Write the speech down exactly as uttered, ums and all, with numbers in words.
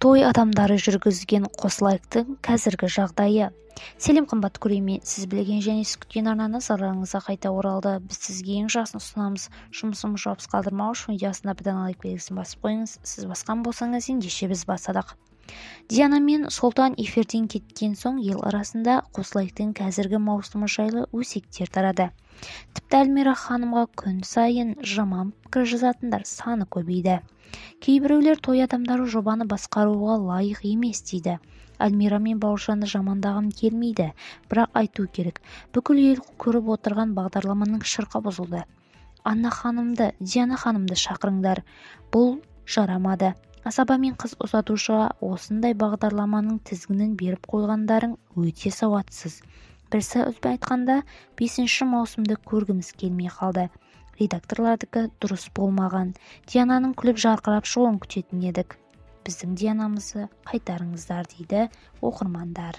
той адамдары жүргізген қосылайықтың қазіргі жағдайы. Сәлем қымбатты көрермен, сіз білген және сіз күткен арнаны назарларыңызға қайта оралды. Біз сізге ең жақсысын ұсынамыз. Жұмысымыз жауапсыз қалдырмау үшін видеосына бірден лайк белгісін басып қойыңыз. Сіз басқан болсаңыз ендеше біз бастадық. Диана мен Сұлтан эфирден кеткен соң ел арасында қосылайықтың қазіргі маусымы жайлы өсектер тарады. Тіпті Әлмира ханымға күн сайын жаман пікір жазатындар саны көбейді. Кейбіреулер той адамдары жобаны басқаруға лайық емес дейді. Әлмира мен Бауыржанды жамандағым келмейді, бірақ айту керек. Бүкіл ел көріп отырған бағдарламаның шырқы бұзылды. Анна ханымды, Диана ханымды шақырыңдар. Бұл жарамады. Асаба мен қыз ұзатушыға осындай бағдарламаның тізгінін беріп қойғандарың өте сауатсыз. Бірсі үзбей айтқанда, бесінші маусымды көргіміз келмей қалды. Редакторлардікі дұрыс болмаған. Диананың күліп жарқырап шығуын күтетін едік. Біздің Дианамызды қайтарыңыздар дейді оқырмандар.